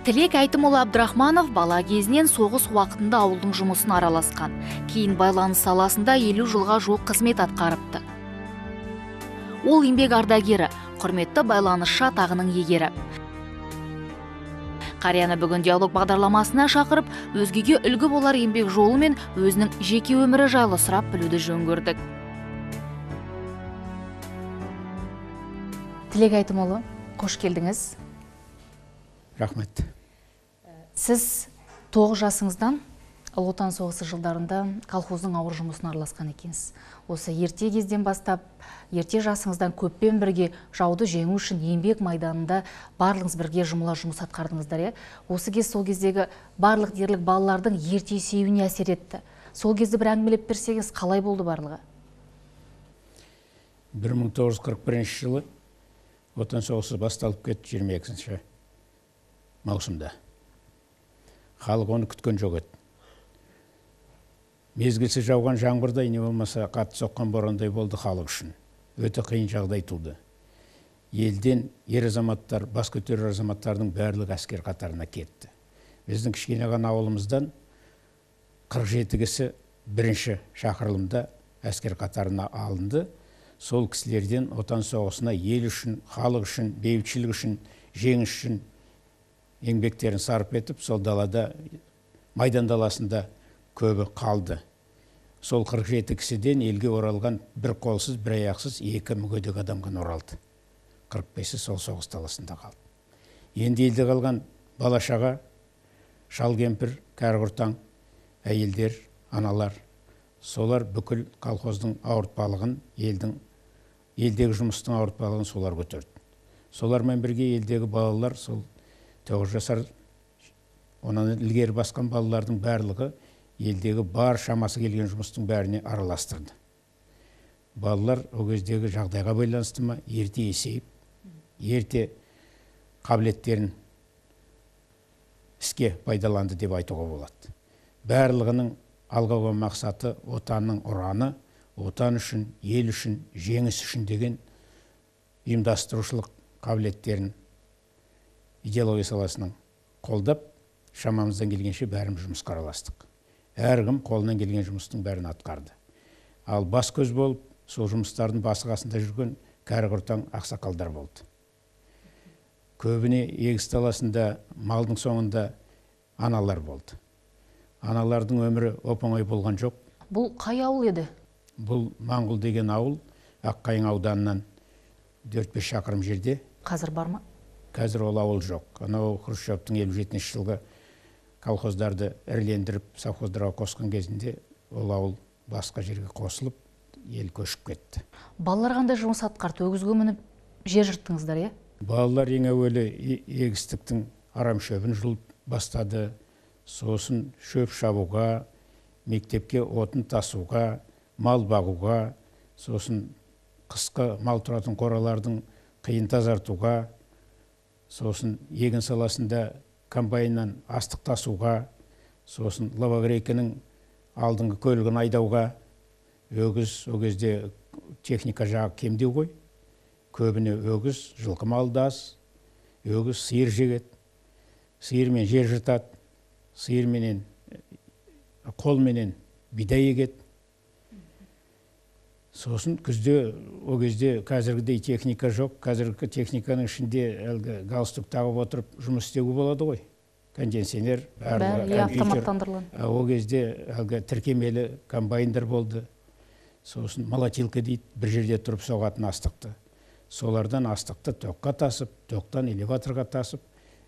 Тілек Айтымұлы Абдрахманов бала кезінен соғыс уақытында ауылдың жұмысын араласқан. Кейін байланыс саласында 50 жылға жуық қызмет атқарыпты. Ол еңбек ардагері, құрметті байланысшы атағының егері. Қарияны бүгін диалог бағдарламасына шақырып, өзгеге үлгі болар еңбек жолы мен өзінің жеке өмірі жайлы сұрап білуді жөн көрдік. Тілек Айтымұлы, қош келдіңіз. Рахмет. Сіз 9 жасыңыздан Ұлы Отан соғысы жылдарында колхоздың ауыр жұмысына араласқан екенсіз. Осы ерте кезден бастап, ерте жасыңыздан көппен бірге жауды жеңу үшін еңбек майданында барлығыңыз бірге жұмыла жұмыс атқардыңыздар. Осы кез сол кездегі барлық дерлік балалардың ерте есеюіне әсер етті. Сол кезде бір әңгімелеп берсеңіз, қалай болды барлығы? 1941 жылы Отан соғысы басталып кетті 22 маусымда. Халық оны күткен жоқ еді. Мезгілсіз жауған жаңбырдай, не болмаса қатты соққан борандай болды халық үшін. Өте қиын жағдай туды. Елден ер азаматтар, бас көтерер азаматтардың барлық әскер қатарына кетті. Біздің кішкене ғана ауылымыздан 47 кісі бірінші шақырылымда әскер қатарына алынды. Сол кісілерден отан соғысына ел үшін, халық үшін, бейбітшілік үшін, жеңіс үшін еңбектерін сарп етіп, сол далада, майдан даласында көбі қалды. Сол 47 кісіден елге оралған бір қолсыз, бір аяқсыз, 2 мүгедек адамға оралды. 45-і сол соғыс даласында қалды. Енді елде қалған балашаға, шал кемпір, кәрі-құртаң, әйелдер, аналар, солар бүкіл колхоздың ауыртпалығын, елдегі жұмыстың ауыртпалығын солар көтерді. Солармен бірге елдегі балалар, сол 9 жасар, онан ілгері басқан балалардың барлығы елдегі бар шамасы келген жұмыстың бәріне араластырды. Балалар о кездегі жағдайға байланысты ма, ерте есейіп, ерте қабілеттерін іске пайдаланды деп айтуға болады. Барлығының алға қойған мақсаты отанның ұраны, отан үшін, ел үшін, жеңіс үшін деген ұйымдастырушылық қабілеттерін идеология саласының қолдап, шамамыздан келгенше бәріміз жұмысқа араластық. Әркім қолынан келген жұмыстың бәрін атқарды. Ал бас көз болып, сол жұмыстардың басы-қасында жүрген кәрі-құртаң ақсақалдар болды. Көбіне егіс даласында, малдың соңында аналар болды. Аналардың өмірі оп-оңай болған жоқ. Бұл қай ауыл еді? Бұл Маңғұл деген ауыл, Аққайың ауданынан 4-5 шақырым жерде. Қазір бар ма? Қазір ол ауыл жоқ. Анау Хрущевтің 57 жылғы колхоздарды ірілендіріп, совхоздарға қосқан кезінде ол ауыл басқа жерге қосылып, ел көшіп кетті. Балалар қандай жұмыс атқарды? Өгізге мініп жер жырттыңыздар, е? Балалар ең әуелі егістіктің арам шөбін жұлып бастады. Сосын шөп шабуға, мектепке отын тасуға, мал бағуға, сосын қысқы мал тұратын қоралардың қиын тазартуға, сосын егін саласында комбайннан астық тасуға, сосын лавагрейкінің алдыңғы көлігін айдауға. Өгіз, о кезде техника жағы кемдеу ғой. Көбіне өгіз, жылқы малды аз, өгіз сиыр жегеді, сиырмен жер жыртады, сиырменен, қолменен бидай егеді. Сосын күзде, о кезде қазіргідей техника жоқ. Қазіргі техниканың ішінде галстук тағып отырып жұмыс істеуге болады ғой. Кондиционер, автоматтандырылған. О кезде тіркемелі комбайндар болды. Сосын молотилка дейді, бір жерде тұрып соғатын астықты. Солардан астықты тоққа тасып, тоқтан элеваторға тасып,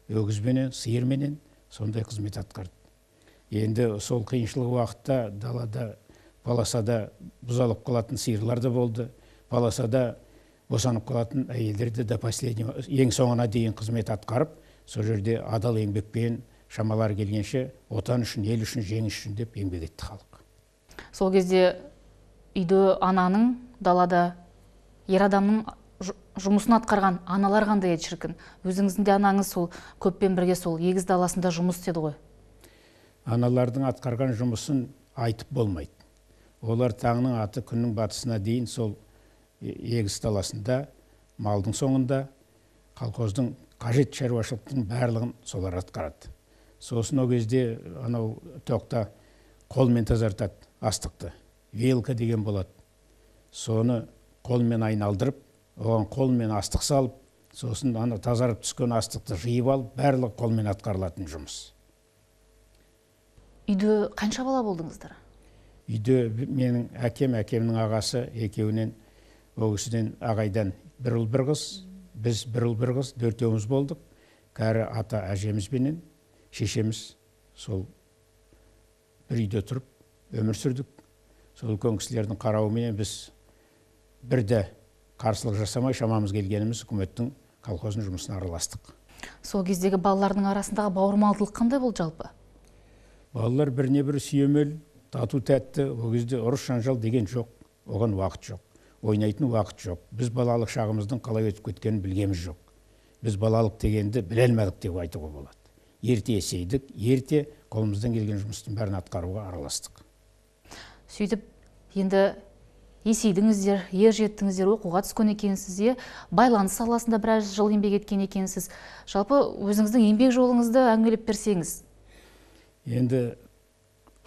өгізбенен, сиырменен сондай қызмет атқарды. Енді сол қиыншылық уақытта далада, баласада бұзалып қалатын сиырлар да болды. Баласада босанып қалатын әйелдерді де ең соңына дейін қызмет атқарып, сол жерде адал еңбекпен шамалар келгенше отан үшін, ел үшін, жеңіс үшін деп еңбек етті халық. Сол кезде үйде ананың, далада ер адамның жұмысын атқарған аналар қандай еді шіркін? Өзіңіздің де анаңыз сол көппен бірге сол егіс даласында жұмыс істеді ғой? Аналардың атқарған жұмысын айтып болмайды. Олар таңның аты күннің батысына дейін сол егіс даласында, малдың соңында, колхоздың қажет шаруашылықтың барлығын солар атқарады. Сосын ол кезде анау тоқта қолмен тазартады астықты. Велка деген болады. Соны қолмен айналдырып, оған қолмен астық салып, сосын ана тазарып түскен астықты жиып алып, барлығы қолмен атқарылатын жұмыс. Үйде қанша бала болдыңыздар? Үйде менің әкемнің ағасы екеуінен, ол кісіден ағайдан бір ұл бір қыз, біз бір ұл бір қыз, төртеуміз болдық. Кәрі ата әжемізбенен шешеміз сол бір үйде тұрып өмір сүрдік. Сол үлкен кісілердің қарауымен біз бірде қарсылық жасамай, шамамыз келгеніміз үкіметтің колхоздың жұмысына араластық. Сол кездегі балалардың арасындағы бауырмалдылық қандай болды жалпы? Балалар біріне бірі сүйемел, тату тәтті. Ол кезде ұрыс жанжал деген жоқ, оған уақыт жоқ, ойнайтын уақыт жоқ. Біз балалық шағымыздың қалай өтіп кеткенін білгеміз жоқ. Біз балалық дегенді біле алмадық деп айтуға болады. Ерте есейдік, ерте қолымыздан келген жұмыстың бәрін атқаруға араластық. Сөйтіп, енді есейдіңіздер, ер жеттіңіздер, оқуға түскен екенсіз, байланыс саласында біраз жыл еңбек еткен екенсіз. Жалпы өзіңіздің еңбек жолыңызды әңгімелеп берсеңіз. Енді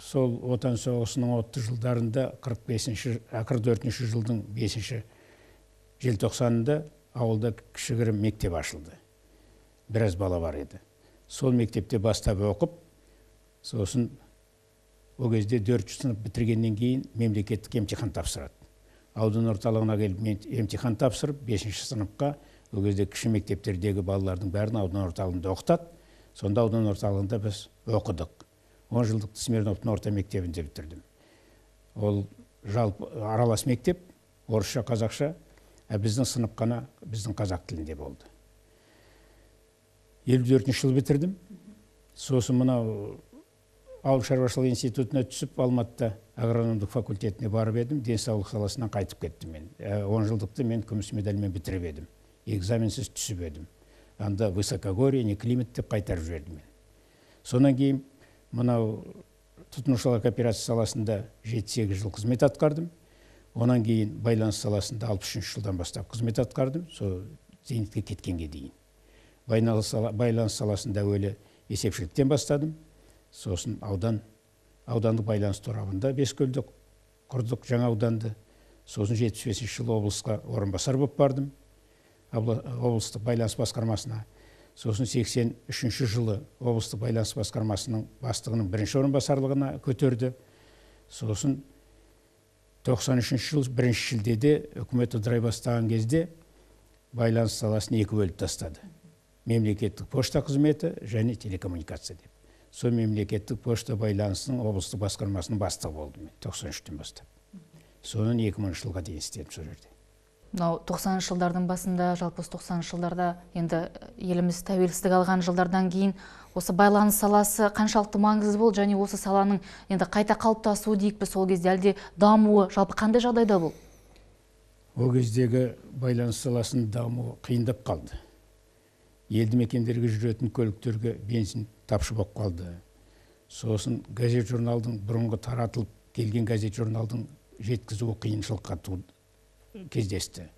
сол отан соғысының 30 жылдарында 44 жылдың 5 желтоқсанында ауылда кішігірім мектеп ашылды. Біраз бала бар еді. Сол мектепте бастап оқып, сосын ол кезде 4 сынып бітіргеннен кейін мемлекеттік емтихан тапсырады. Аудан орталығына келіп емтихан тапсырып, 5 сыныпқа ол кезде кіші мектептердегі балалардың бәрін аудан орталығында оқытады. Сонда аудан орталығында біз оқыдық. 10 жылдық Смирновтың орта мектебінде бітірдім. Ол жалпы аралас мектеп, орысша, қазақша, біздің сынып қана біздің қазақ тілінде болды. 54 жыл бітірдім. Сосын мынау ауыл шаруашылық институтына түсіп, Алматыда агрономдық факультетіне барып едім, денсаулық саласынан қайтып кеттім мен. 10 жылдықты мен күміс медальмен бітіріп едім. Экзаменсіз түсіп едім. Анда высокогорье, не климат деп қайтарып жібердім мен. Сонан кейін мынау тұтынушылар кооперация саласында 7-8 жыл қызмет атқардым. Онан кейін байланыс саласында 63 жылдан бастап қызмет атқардым, сол зейнетке кеткенге дейін. Байланыс саласында әуелі есепшіліктен бастадым. Сосын аудандық байланыс торабында Бескөлді құрдық, жаңа ауданды. Сосын 75 жыл облысқа орынбасар болып бардым, облыстық байланыс басқармасына. Сосын 83 жылы облыстық байланыс басқармасының бастығының бірінші орынбасарлығына көтерді. Сосын 93 жыл 1 шілдеде үкімет ыдырай бастаған кезде байланыс саласын 2 бөліп тастады. Мемлекеттік пошта қызметі және телекоммуникация деп. Сол мемлекеттік пошта байланысының облыстық басқармасының бастығы болдым мен 93-тен бастап. Соның 2000 жылға дейін істедім сол жерде. 90 жылдардың басында, жалпы 90 жылдарда енді еліміз тәуелсіздік алған жылдардан кейін осы байланыс саласы қаншалықты маңызды болды, және осы саланың енді қайта қалыптасуы дейік пе сол кезде, әлде дамуы жалпы қандай жағдайда болды? Ол кездегі байланыс саласының дамуы қиындап қалды. Елді мекендерге жүретін көліктерге бензин тапшы болып қалды. Сосын газет журналдың бұрынғы таратылып келген газет журналдың жеткізуі қиыншылыққа кездесті.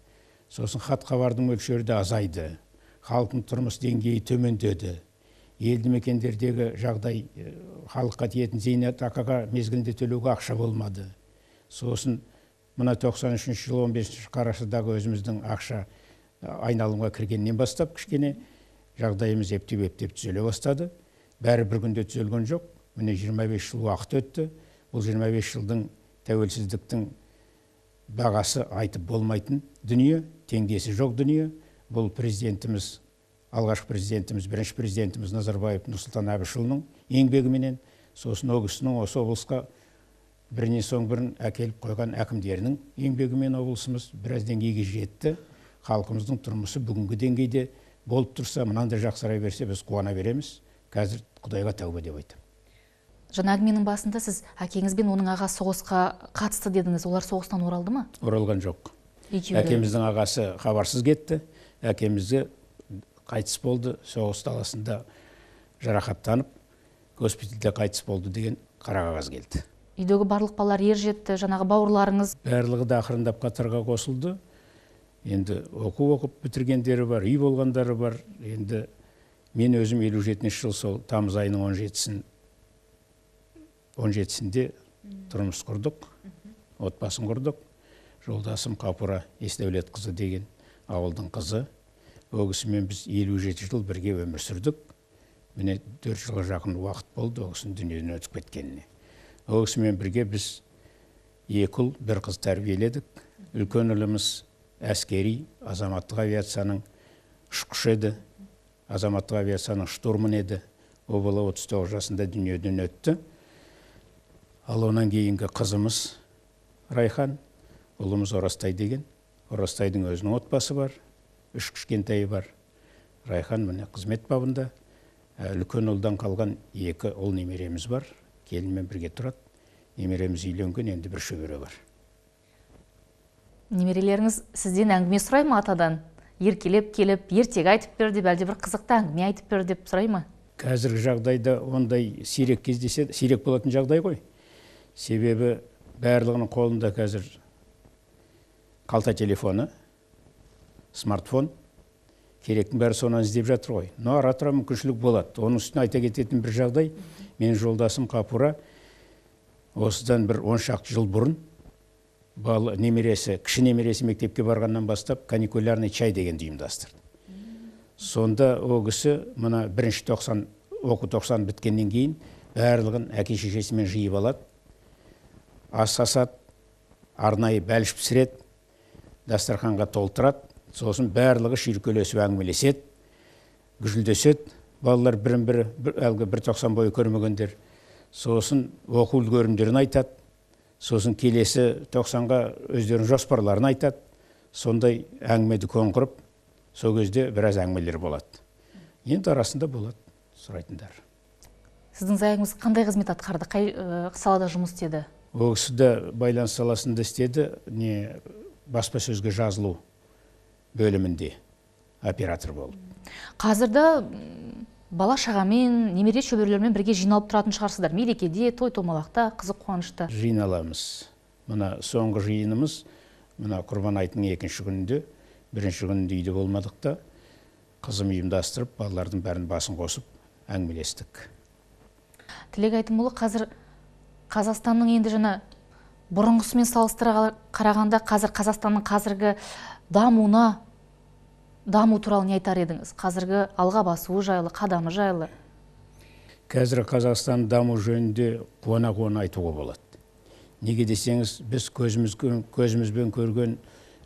Сосын хат хабардың мөлшері де азайды. Халықтың тұрмыс деңгейі төмендеді. Елді мекендердегі жағдай, халыққа тиетін зейнетақыға мезгілінде төлеуге ақша болмады. Сосын мына 93 жыл 15 қарашадағы өзіміздің ақша айналымға кіргеннен бастап кішкене жағдайымыз ептеп түзеле бастады. Бәрі бір күнде түзелген жоқ. Міне 25 жыл уақыт өтті. Бұл 25 жылдың тәуелсіздіктің бағасы айтып болмайтын дүние, теңдесі жоқ дүние. Бұл президентіміз, алғашқы президентіміз, бірінші президентіміз Назарбаев Нұрсұлтан Әбішұлының еңбегіменен, сосын ол кісінің осы облысқа бірінен соң бірін әкеліп қойған әкімдерінің еңбегімен облысымыз біраз деңгейге жетті. Халқымыздың тұрмысы бүгінгі деңгейде болып тұрса, мынандай жақсарай берсе, біз қуана береміз. Қазір Құдайға тәубе деп айтам. Жаңа әңгіменің басында сіз әкеңіз бен оның ағасы соғысқа қатысты дедіңіз. Олар соғыстан оралды ма? Оралған жоқ. Әкеміздің ағасы хабарсыз кетті. Әкемізге қайтыс болды, соғыс даласында жарақаттанып, госпитальда қайтыс болды деген қара қағаз келді. Үйдегі барлық балалар ер жетті, жаңағы бауырларыңыз? Барлығы да ақырындап қатарға қосылды. Енді оқып бітіргендері бар, үй болғандары бар. Енді мен өзім 57 жыл сол тамыз айының 17-сінде тұрмыс құрдық, отбасын құрдық. Жолдасым Қапура Есдәулетқызы деген ауылдың қызы. Ол кісімен біз 57 жыл бірге өмір сүрдік. Міне 4 жылға жақын уақыт болды ол кісінің дүниеден өтіп кеткеніне. Ол кісімен бірге біз 2 ұл, 1 қыз тәрбиеледік. Үлкен ұлымыз әскери, азаматтық авиацияның ұшқышы еді. Азаматтық авиацияның штурман еді. Ол бала 39 жасында дүниеден өтті. Ал онан кейінгі қызымыз Райхан, ұлымыз Орастай деген. Орастайдың өзінің отбасы бар, 3 кішкентайы бар. Райхан міне қызмет бабында. Үлкен ұлдан қалған 2 ұл немереміз бар. Келінмен бірге тұрады. Немереміз үйленген, енді бір шөбере бар. Немерелеріңіз сізден әңгіме сұрай ма атадан? Еркелеп келіп, ертегі айтып бер деп, әлде бір қызықты әңгіме айтып бер деп сұрай ма? Қазіргі жағдайда ондай сирек кездеседі, сирек болатын жағдай ғой. Себебі барлығының қолында қазір қалта телефоны, смартфон, керектің бәрі соны іздеп жатыр ғой. Но ара-тұра мүмкіншілік болады. Оның үстіне айта кететін бір жағдай, менің жолдасым Қапура осыдан бір 10 шақты жыл бұрын немересі, кіші немересі мектепке барғаннан бастап каникулярный чай дегенді ұйымдастырды. Сонда ол кісі мына 1-ші оқу 90 біткеннен кейін барлығын әке шешесімен жиып алады. Ас асады, арнайы бәліш пісіреді, дастарханға толтырады. Сосын барлығы шүйіркелесіп әңгімелеседі, гүжілдеседі. Балалар бірін-бірі әлгі 1.90 бойы көрмегендер. Сосын оқу үлгерімдерін айтады. Сосын келесі 90-ға өздерінің жоспарларын айтады. Сондай әңгімеді көң құрып, сол кезде біраз әңгімелер болады. Енді арасында болады сұрайтындар. Сіздің зайыңыз қандай қызмет атқарды? Қай салада жұмыс істеді? Ол кісі де байланыс саласында істеді, баспасөзге жазылу бөлімінде оператор болды. Қазірді бала шағамен, немере шөберелермен бірге жиналып тұратын шығарсыздар. Мерекеде, той-томалақта, қызық қуанышта. Жиналамыз. Мына соңғы жиынымыз, мына Құрбан айтының 2-ші күнінде, 1-ші күнінде үйде болмадық та, қызым ұйымдастырып, балалардың бәрін басын қосып, әңгімелестік. Тілек Айтымұлы, қазір Қазақстанның енді жаңа бұрынғысымен салыстыра қарағанда, қазір Қазақстанның қазіргі даму туралы не айтар едіңіз? Қазіргі алға басуы жайлы, қадамы жайлы? Қазір Қазақстан даму жөнінде қуана-қуана айтуға болады. Неге десеңіз, біз көзімізбен көрген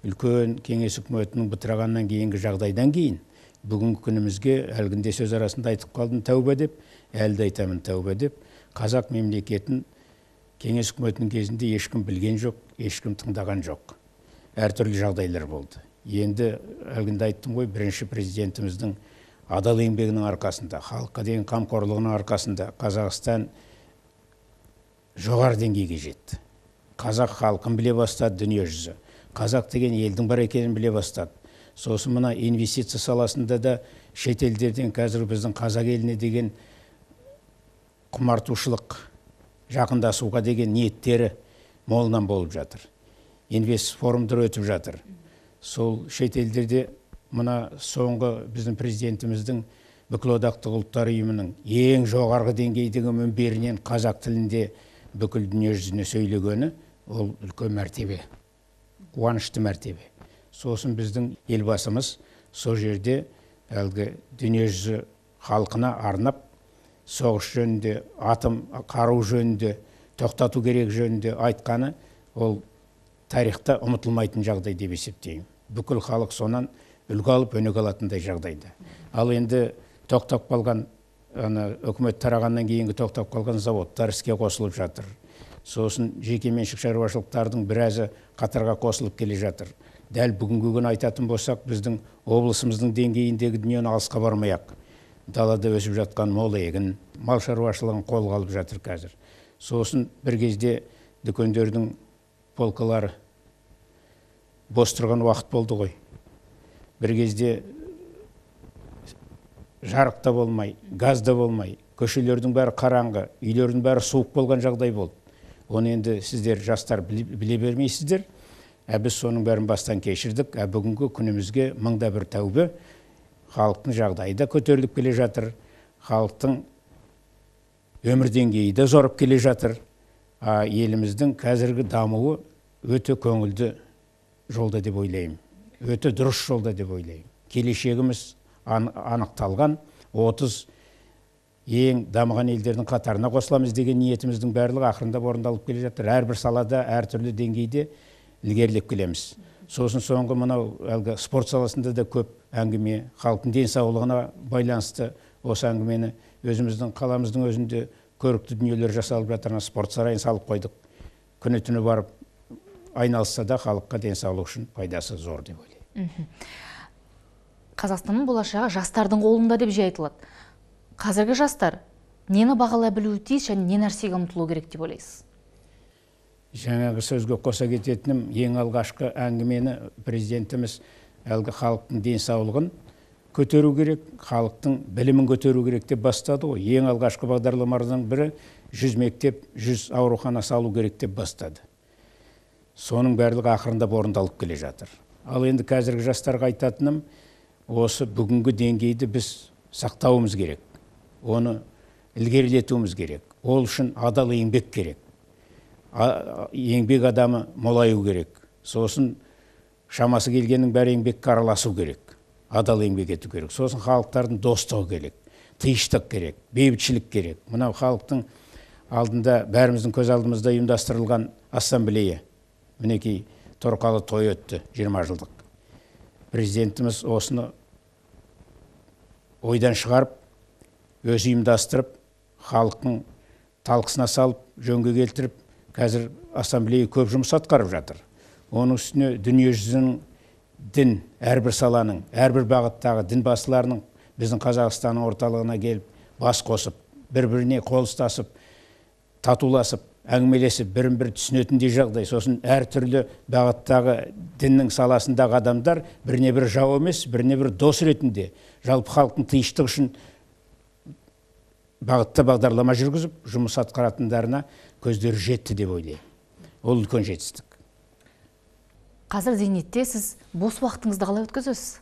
үлкен кеңес үкіметінің бытырағаннан кейінгі жағдайдан кейін, бүгінгі күнімізге әлгінде сөз арасында айтып қалдым тәуба деп, әлді айтамын тәуба деп, қазақ мемлекетін кеңес үкіметінің кезінде ешкім білген жоқ, ешкім тыңдаған жоқ. Әртүрлі жағдайлар болды. Енді әлгінде айттым ғой, бірінші президентіміздің адал еңбегінің арқасында, халыққа деген қамқорлығының арқасында Қазақстан жоғары деңгейге жетті. Қазақ халқын біле бастады дүние жүзі. Қазақ деген елдің бар екенін біле бастады. Сосын мына инвестиция саласында да шетелдерден қазір біздің қазақ еліне деген құмартушылық, жақындасуға деген ниеттері молынан болып жатыр. Инвест форумдар өтіп жатыр. Сол шетелдерде мына соңғы біздің президентіміздің бүкілодақтық ұлттар ұйымының ең жоғарғы деңгейдегі мінберінен қазақ тілінде бүкіл дүние жүзіне сөйлегені, ол үлкен мәртебе, қуанышты мәртебе. Сосын біздің елбасымыз сол жерде әлгі дүние жүзі халқына арнап соғыс жөнінде, атом қару жөнінде, тоқтату керек жөнінде айтқаны, ол тарихта ұмытылмайтын жағдай деп есептеймін. Бүкіл халық сонан үлгі алып өнеге алатындай жағдайда. Ал енді тоқтап қалған, үкімет тарағаннан кейінгі тоқтап қалған заводтар іске қосылып жатыр. Сосын жекеменшік шаруашылықтардың біразы қатарға қосылып келе жатыр. Дәл бүгінгі күні айтатын болсақ, біздің облысымыздың деңгейіндегі дүниені алысқа бармай-ақ, далада өсіп жатқан мол егін, мал шаруашылығын қолға алып жатыр қазір. Сосын бір кезде дүкендердің полкалары бос тұрған уақыт болды ғой. Бір кезде жарық та болмай, газ да болмай, көшелердің бәрі қараңғы, үйлердің бәрі суық болған жағдай болды. Оны енді сіздер жастар біле бермейсіздер. Біз соның бәрін бастан кешірдік. Бүгінгі күнімізге мыңда бір тәубе, халықтың жағдайы да көтеріліп келе жатыр, халықтың өмір деңгейі де зорып келе жатыр. Еліміздің қазіргі дамуы өте көңілді жолда деп ойлаймын. Өте дұрыс жолда деп ойлаймын. Келешегіміз анықталған, 30 ең дамыған елдердің қатарына қосыламыз деген ниетіміздің барлығы ақырындап орындалып келе жатыр. Әрбір салада, әртүрлі деңгейде ілгерілеп келеміз. Сосын соңғы мынау спорт саласында да көп әңгіме, халықтың денсаулығына байланысты осы әңгімені өзіміздің қаламыздың өзінде көрікті дүниелер жасалып жатыр. Спорт сарайын салып қойдық. Күні түні барып айналысса да халыққа денсаулық үшін пайдасы зор деп ойлаймын. Қазақстанның болашағы жастардың қолында деп жиі айтылады. Қазіргі жастар нені бағалай білуі тиіс және не нәрсеге ұмтылу керек деп ойлайсыз? Жаңағы сөзге қоса кететінім, ең алғашқы әңгімені президентіміз әлгі халықтың денсаулығын көтеру керек, халықтың білімін көтеру керек деп бастады ғой. Ең алғашқы бағдарламалардың бірі 100 мектеп, 100 аурухана салу керек деп бастады. Соның барлығы ақырындап орындалып келе жатыр. Ал енді қазіргі жастарға айтатыным, осы бүгінгі деңгейді біз сақтауымыз керек. Оны ілгерілетуіміз керек. Ол үшін адал еңбек керек. Еңбек адамы молаю керек. Сосын шамасы келгеннің бәрі еңбекке араласу керек. Адал еңбек ету керек. Сосын халықтардың достығы керек. Тыныштық керек, бейбітшілік керек. Мынау халықтың алдында, бәріміздің көз алдымызда ұйымдастырылған ассамблея. Мінекей торқалы той өтті 20 жылдық. Президентіміз осыны ойдан шығарып, өзі ұйымдастырып, халықтың талқысына салып, жөнге келтіріп, қазір ассамблея көп жұмыс атқарып жатыр. Оның үстіне дүниежүзінің дін, әрбір саланың, әрбір бағыттағы дін басыларының біздің Қазақстанның орталығына келіп, бас қосып, бір-біріне қол ұстасып, татуласып, әңгімелесіп, бірін-бірі түсінетіндей жағдай. Сосын әртүрлі бағыттағы діннің саласындағы адамдар біріне бір жау емес, біріне бір дос ретінде жалпы халықтың тыныштығы үшін бағытта бағдарлама жүргізіп, жұмыс атқаратындарына көздері жетті деп ойлаймын. Ол үлкен жетістік. Қазір зейнетте сіз бос уақытыңызды қалай өткізесіз?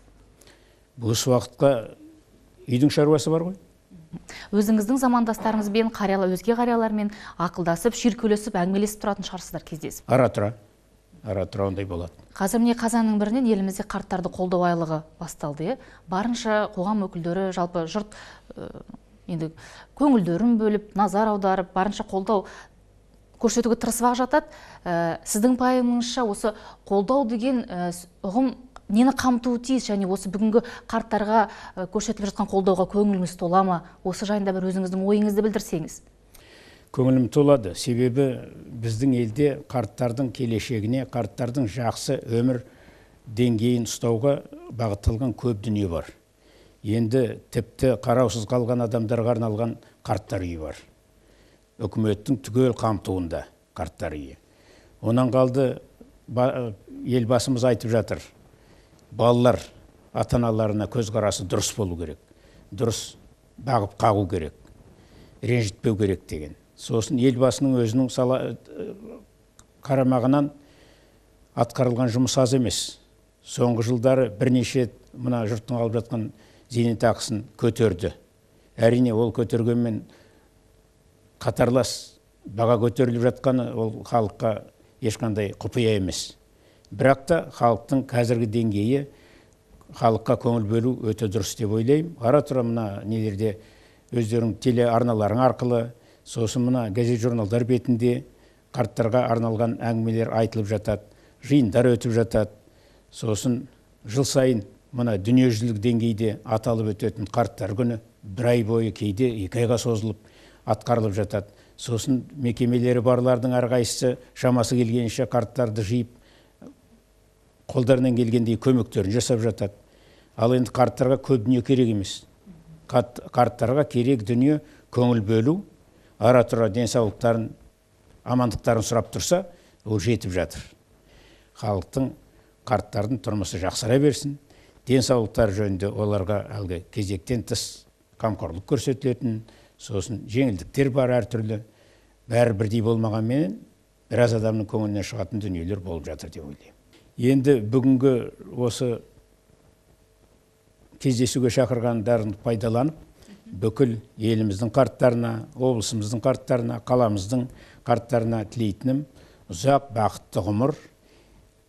Бос уақытқа үйдің шаруасы бар ғой. Өзіңіздің замандастарыңызбен, өзге қариялармен ақылдасып, шүйіркелесіп, әңгімелесіп тұратын шығарсыздар кездесіп? Ара-тұра ондай болады. Қазір міне қазанның бірінен елімізде қарттарды қолдау айлығы басталды. Барынша қоғам өкілдері, жалпы жұрт енді көңілдерін бөліп, назар аударып, барынша қолдау көрсетуге тырысып жатады. Сіздің пайымыңызша осы қолдау деген ұғым нені қамтуы тиіс, және осы бүгінгі қарттарға көрсетіліп жатқан қолдауға көңіліңіз тола ма? Осы жайында бір өзіңіздің ойыңызды білдірсеңіз. Көңілім толады. Себебі біздің елде қарттардың келешегіне, қарттардың жақсы өмір деңгейін ұстауға бағытталған көп дүние бар. Енді тіпті қараусыз қалған адамдарға арналған қарттар үйі бар. Үкіметтің түгел қамтуында қарттар үйі. Онан қалды, елбасымыз айтып жатыр. Балалар ата-аналарына көзқарасы дұрыс болу керек. Дұрыс бағып қағу керек. Ренжітпеу керек деген. Сосын елбасының өзінің қарамағынан атқарылған жұмыс аз емес. Соңғы жылдары бірнеше мына жұрттың алып жатқан зейнетақысын көтерді. Әрине ол көтергенмен қатарлас баға көтеріліп жатқаны ол халыққа ешқандай құпия емес. Бірақ та халықтың қазіргі деңгейі халыққа көңіл бөлу өте дұрыс деп ойлаймын. Ара-тұра мына нелерде өздерінің телеарналарың арқылы, сосын мына газет журналдар бетінде қарттарға арналған әңгімелер айтылып жатады, жиындар өтіп жатады. Сосын жыл сайын мына дүниежүзілік деңгейде аталып өтетін қарттар күні бір ай бойы, кейде 2 айға созылып атқарылып жатады. Сосын мекемелері барлардың әрқайсысы шамасы келгенше қарттарды жиып қолдарынан келгендей көмектерін жасап жатады. Ал енді қарттарға көп дүние керек емес. Қарттарға керек дүние көңіл бөлу, ара-тұра денсаулықтарын, амандықтарын сұрап тұрса, ол жетіп жатыр. Халықтың, қарттардың тұрмысы жақсара берсін, денсаулықтар жөнінде оларға әлгі кезектен тыс қамқорлық көрсетілетін, сосын жеңілдіктер бар әртүрлі, бәрі бірдей болмағанмен біраз адамның көңілінен шығатын дүниелер болып жатыр деп ойлаймын. Енді бүгінгі осы кездесуге шақырғандарын пайдаланып, бүкіл еліміздің қарттарына, облысымыздың қарттарына, қаламыздың қарттарына тілейтінім ұзақ бақытты ғұмыр,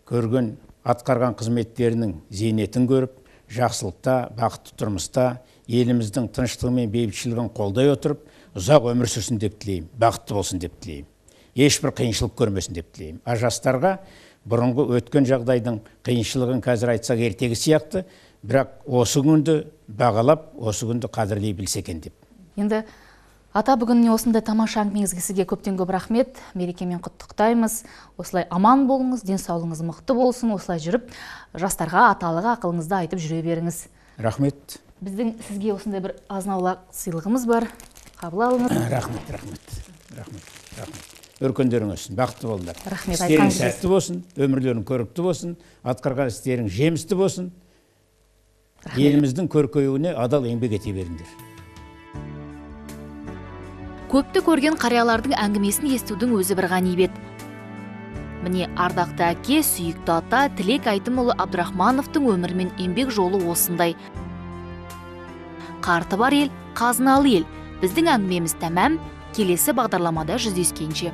көрген атқарған қызметтерінің зейнетін көріп, жақсылықта, бақытты тұрмыста, еліміздің тыныштығы мен бейбітшілігін қолдай отырып, ұзақ өмір сүрсін деп тілеймін, бақытты болсын деп тілеймін. Ешбір қиыншылық көрмесін деп тілеймін. А жастарға бұрынғы өткен жағдайдың қиыншылығын қазір айтсақ ертегі сияқты, бірақ осы күнді бағалап, осы күнді қадірлей білсе екен деп. Енді ата, бүгін осындай тамаша әңгімеңізге сізге көптен көп рахмет. Мерекемен құттықтаймыз. Осылай аман болыңыз, денсаулығыңыз мықты болсын. Осылай жүріп, жастарға аталығы ақылыңызды айтып жүре беріңіз. Рахмет. Біздің сізге осындай бір азнаулақ сыйлығымыз бар. Қабыл алыңыз. Рахмет. Өркендерің өсін, бақытты болыңдар. Рахмет. Істерің сәтті болсын, өмірлерің көрікті болсын, атқарған істерің жемісті болсын. Еліміздің көркеюіне адал еңбек ете беріңдер. Көпті көрген қариялардың әңгімесін естудің өзі бір ғанибет. Міне ардақты әке, сүйікті ата Тілек Айтымұлы Абдрахмановтың өмірі мен еңбек жолы осындай. Қарты бар ел, қазыналы ел. Біздің әңгімеміз тәмам. Келесі бағдарламада жүздескенше.